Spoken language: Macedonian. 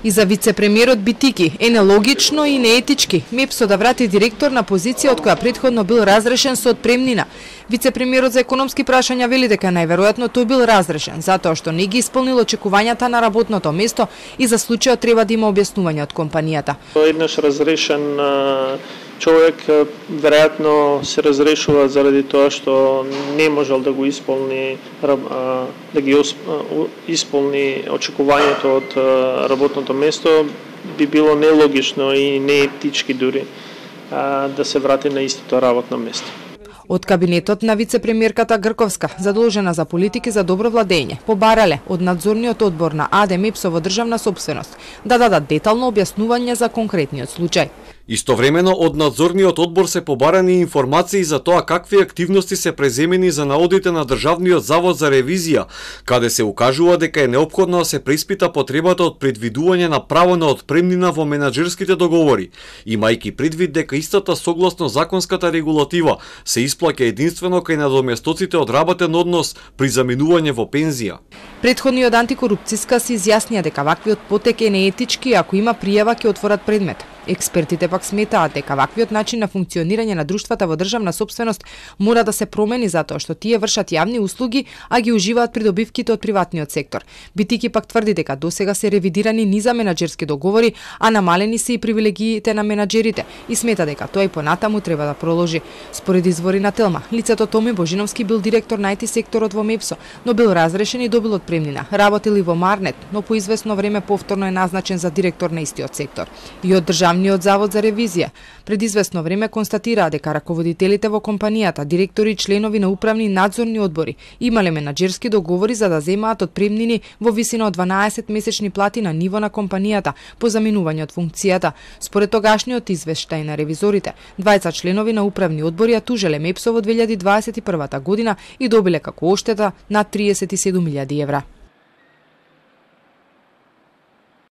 И за вице-премиерот Битики е нелогично и неетички МЕПСО да врати директор на позиција од која претходно бил разрешен со отпремнина. Вице-премиерот за економски прашања вели дека најверојатно тој бил разрешен затоа што не ги исполнил очекувањата на работното место и за случајот треба да има објаснување од компанијата. Еднаш разрешен човек веројатно се разрешува заради тоа што не можел да го исполни исполни очекувањето од работното место, би било нелогично и неетички дури да се врати на истото работно место. Од кабинетот на вице-премиерката Грковска, задолжена за политики за добро владење, побарале од надзорниот одбор на АД МЕПСО во државна сопственост да дадат детално објаснување за конкретниот случај. Истовремено од надзорниот одбор се побарани информации за тоа какви активности се преземени за наодите на Државниот завод за ревизија, каде се укажува дека е неопходно да се преиспита потребата од предвидување на право на отпремнина во менаџерските договори, имајќи предвид дека истата согласно законската регулатива се исплаќа единствено кај надоместоците од работен однос при заменување во пензија. Претходниот антикорупцијска се изјаснија дека ваквиот потек е неетички, ако има пријава ќе отворат предмет. Експертите пак сметаат дека ваквиот начин на функционирање на друштвата во државна сопственост мора да се промени затоа што тие вршат јавни услуги, а ги уживаат придобивките од приватниот сектор. Битики пак тврди дека досега се ревидирани низа менаџерски договори, а намалени се и привилегиите на менаџерите и смета дека тоа и понатаму треба да проложи. Според извори на Телма, лицето Томи Божиновски бил директор на IT секторот во МЕПСО, но бил разрешен и добил отпремнина. Работил и во Марнет, но по известно време повторно е назначен за директор на истиот сектор. И од Државниот завод за ревизија пред известно време констатираа дека раководителите во компанијата, директори и членови на управни и надзорни одбори имале менаџерски договори за да земаат отпремнини во висина од 12 месечни плати на ниво на компанијата по заминување од функцијата. Според тогашниот извештај на ревизорите, 20 членови на управни одбори ја тужеле МЕПСО во 2021 година и добиле како оштета над 37.000 евра.